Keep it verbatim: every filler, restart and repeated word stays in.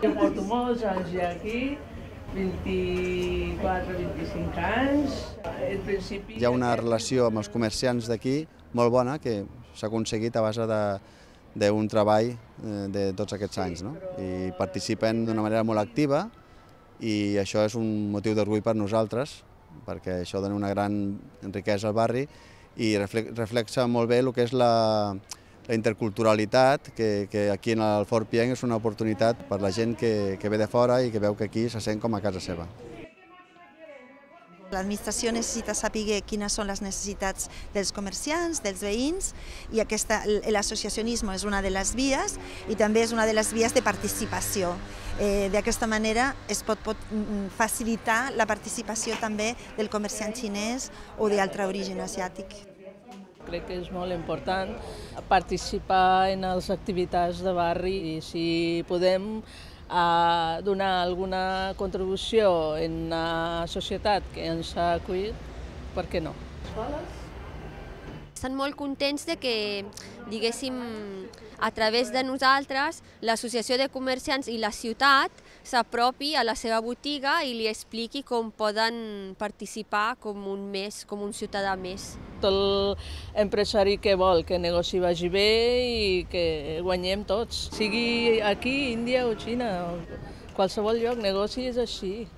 Jo porto molts anys ja aquí, vint-i-quatre vint-i-cinc anys. Al principi... Hi ha una relació amb els comerciants d'aquí molt bona que s'ha aconseguit a base d'un treball de tots aquests anys, no? I participen d'una manera molt activa i això és un motiu d'orgull per nosaltres, perquè això dona una gran riquesa al barri i reflexa molt bé el que és la, la interculturalitat, que, que aquí en el Fort Pienc és una oportunitat per la gent que, que ve de fora i que veu que aquí se sent com a casa seva. L'administració necessita saber quines són les necessitats dels comerciants, dels veïns, i l'associacionisme és una de les vies i també és una de les vies de participació. Eh, D'aquesta manera es pot, pot facilitar la participació també del comerciant xinès o d'altre origen asiàtic. Crec que és molt important participar en les activitats de barri i si podem a donar alguna contribució en la societat que ens ha acollit, per què no? Estan molt contents de que, diguéssim, a través de nosaltres, l'Associació de Comerciants i la ciutat s'apropi a la seva botiga i li expliqui com poden participar com un més, com un ciutadà més. Tot l'empresari que vol que el negoci vagi bé i que guanyem tots, sigui aquí, Índia o Xina, o qualsevol lloc, negoci és així.